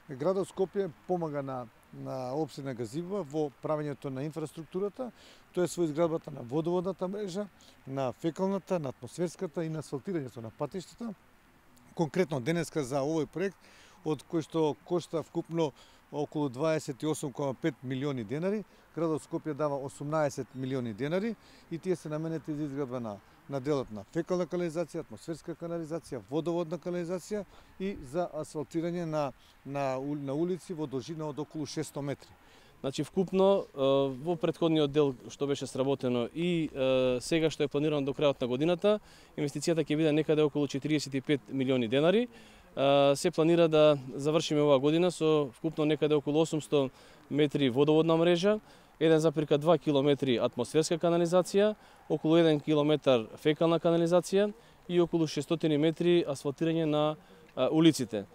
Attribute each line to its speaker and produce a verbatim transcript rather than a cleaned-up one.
Speaker 1: Градот Скопје помага на на општина Газибова во правењето на инфраструктурата, тоа е со изградбата на водоводната мрежа, на фекалната, на атмосферската и на асфалтирањето на патиштата. Конкретно денеска за овој проект, од кој што кошта вкупно околу дваесет и осум кома пет милиони денари, градот Скопје дава осумнаесет милиони денари и тие се наменети за изградба на на делот на фекална канализација, атмосферска канализација, водоводна канализација и за асфалтирање на на, на улици во должина од околу шестстотини метри.
Speaker 2: Значи вкупно во претходниот дел што беше сработено и сега што е планирано до крајот на годината, инвестицијата ќе биде некаде околу четириесет и пет милиони денари. Се планира да завршиме оваа година со вкупно некаде околу осумстотини метри водоводна мрежа, еден запирка два километри атмосферска канализација, околу еден километар фекална канализација и околу шестстотини метри асфалтирање на улиците.